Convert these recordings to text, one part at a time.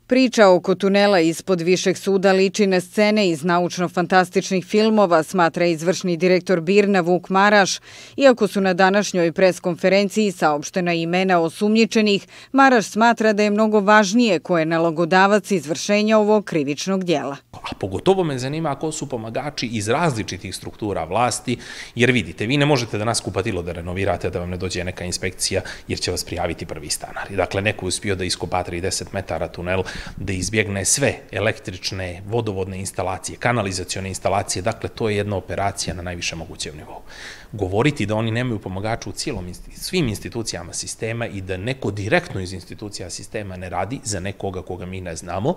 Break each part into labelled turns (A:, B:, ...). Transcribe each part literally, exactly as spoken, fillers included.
A: Priča oko tunela ispod Višeg suda liči na scene iz naučno-fantastičnih filmova, smatra izvršni direktor BIRN-a Vuk Maraš. Iako su na današnjoj preskonferenciji saopštena imena osumnjičenih, Maraš smatra da je mnogo važnije ko je nalogodavac izvršenja ovog krivičnog djela.
B: A pogotovo me zanima ko su pomagači iz različitih struktura vlasti, jer vidite, vi ne možete da nas kupatilo da renovirate, da vam ne dođe neka inspekcija, jer će vas prijaviti prvi stanari. Dakle, neko je uspio da iskopa trideset metara tunel, da izbjegne sve električne, vodovodne instalacije, kanalizacione instalacije, dakle, to je jedna operacija na najviše mogućem nivou. Govoriti da oni nemaju pomagača u cijelom, svim institucijama sistema i da neko direktno iz institucija sistema ne radi za nekoga koga mi ne znamo,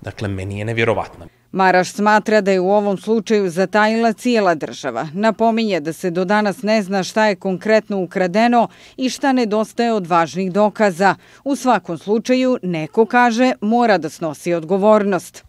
B: dakle, meni je nevjerovatno.
A: Maraš smatra da je u ovom slučaju zatajila cijela država. Napominje da se do danas ne zna šta je konkretno ukradeno i šta nedostaje od važnih dokaza. U svakom slučaju, neko kaže, mora da snosi odgovornost.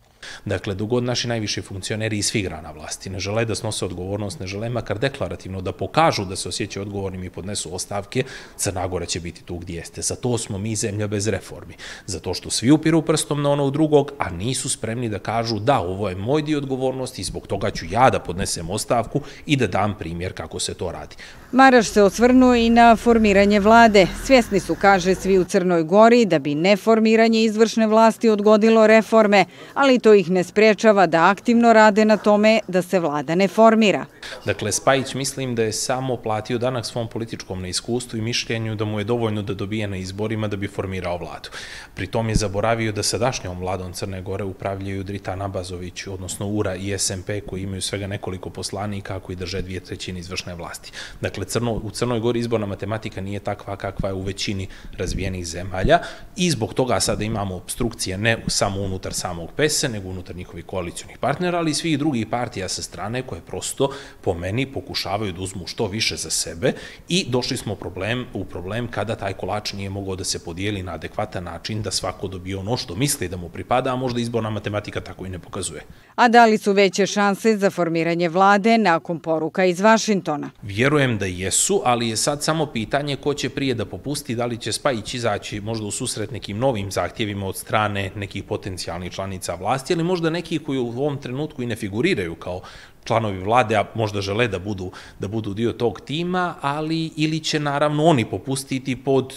B: Dakle, dogod naši najviši funkcioneri iz svih grana vlasti ne žele da snose odgovornost, ne žele makar deklarativno da pokažu da se osjećaju odgovornim i podnesu ostavke, Crna Gora će biti tu gdje jeste. Zato smo mi zemlja bez reformi. Zato što svi upiru prstom na onog drugog, a nisu spremni da kažu da, ovo je moj dio odgovornosti i zbog toga ću ja da podnesem ostavku i da dam primjer kako se to radi.
A: Maraš se osvrnuo i na formiranje vlade. Svjesni su, kaže, svi u Crnoj Gori da bi neformiranje izvršne vlasti odgodilo reforme, ali to ih ne spriječava da aktivno rade na tome da se vlada ne formira.
B: Dakle, Spajić mislim da je samo platio danak svom političkom neiskustvu i mišljenju da mu je dovoljno da dobije na izborima da bi formirao vladu. Pri tom je zaboravio da sadašnjom vladom Crne Gore upravljaju Dritan Abazović, odnosno U R A i S M P, koji imaju svega nekoliko poslanika koji drže dvije trećine izvršne vlasti. Dakle, Crno, u Crnoj Gori izborna matematika nije takva kakva je u većini razvijenih zemalja i zbog toga sada imamo obstrukcije ne samo unutar samog P E S-a, nego unutar njihovih koalicionih partnera, ali i svih drugih partija sa strane koje prosto po meni pokušavaju da uzmu što više za sebe i došli smo problem, u problem kada taj kolač nije mogao da se podijeli na adekvatan način, da svako dobije ono što misli da mu pripada, a možda izborna matematika tako i ne pokazuje.
A: A da li su veće šanse za formiranje vlade nakon poruka iz Vašingtona?
B: Vjerujem da jesu, ali je sad samo pitanje ko će prije da popusti, da li će Spajić izaći možda u susret nekim novim zahtjevima od strane nekih potencijalnih članica vlasti, ali možda neki koji u ovom trenutku i ne figuriraju kao članovi vlade, a možda žele da budu, da budu dio tog tima, ali ili će naravno oni popustiti pod,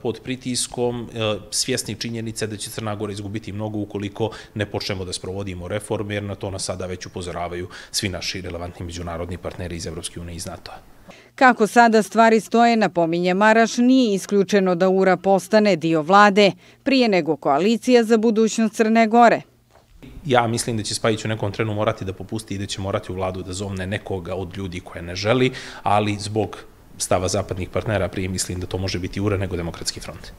B: pod pritiskom svjesni činjenice da će Crna Gora izgubiti mnogo ukoliko ne počnemo da sprovodimo reforme, jer na to nas sada već upozoravaju svi naši relevantni međunarodni partneri iz Evropske unije i iz NATO-a.
A: Kako sada stvari stoje, napominje Maraš, nije isključeno da U R A postane dio vlade, prije nego koalicija za budućnost Crne Gore.
B: Ja mislim da će Spajić u nekom trenu morati da popusti i da će morati u vladu da zovne nekoga od ljudi koje ne želi, ali zbog stava zapadnih partnera prije mislim da to može biti U R A nego Demokratski front.